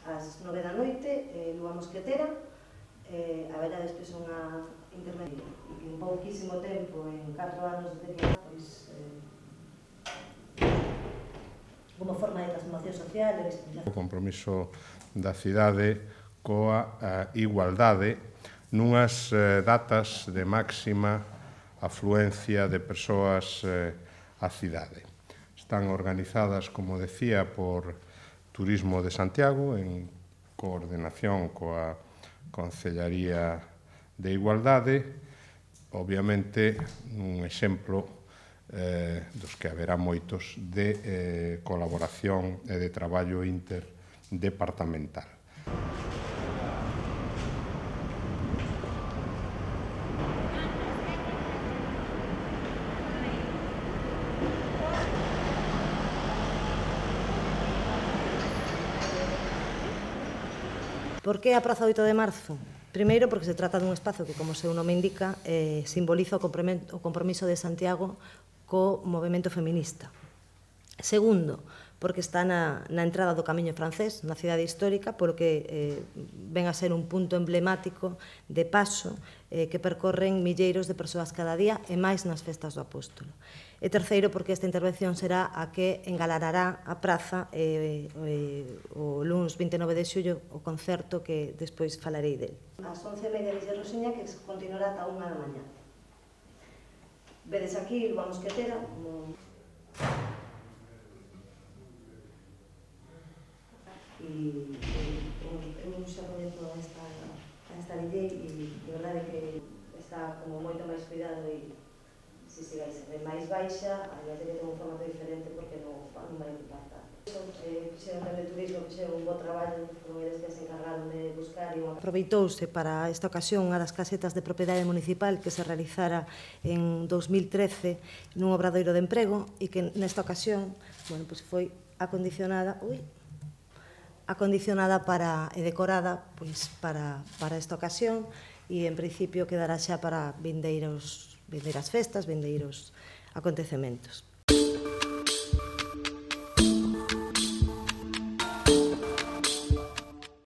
ás 9 da noite, Lúa Mosquetera, haberá despois unha intermedia, e que en pouquísimo tempo, en 4 anos de declinar, pois, como forma de transformación social, o compromiso da cidade coa igualdade nunhas datas de máxima afluencia de persoas á cidade. Están organizadas, como decía, por Turismo de Santiago, en coordenación coa Concellaría de Igualdade, obviamente un exemplo dos que haberá moitos de colaboración e de traballo interdepartamental. Por que a Praza 8 de Marzo? Primeiro, porque se trata dun espazo que, como o seu nome indica, simboliza o compromiso de Santiago co movemento feminista. Segundo, porque está na entrada do Camiño Francés, na cidade histórica, porque ven a ser un punto emblemático de paso que percorren milleiros de persoas cada día e máis nas festas do Apóstolo. E terceiro, porque esta intervención será a que engalanará a praza o luns 29 de xullo o concerto que despois falarei del. As 11:30 de Rosiña, que continuará ata 1 da mañá. Vedes aquí Lúa Mosquetera, como... eu xa coñezo a esta DJ e de verdade que está como moito máis cuidado e se sigáis de máis baixa, a verdade que ten un formato diferente porque non vai impactar. Fixeron de turismo, fixeron un bo traballo, foron eles que se encargaron de buscar e aproveitouse para esta ocasión unha das casetas de propiedade municipal que se realizara en 2013 nun obradoiro de emprego e que nesta ocasión, bueno, pues foi acondicionada e decorada pois para esta ocasión e en principio quedará xa para vindeiras festas, vindeiros acontecementos.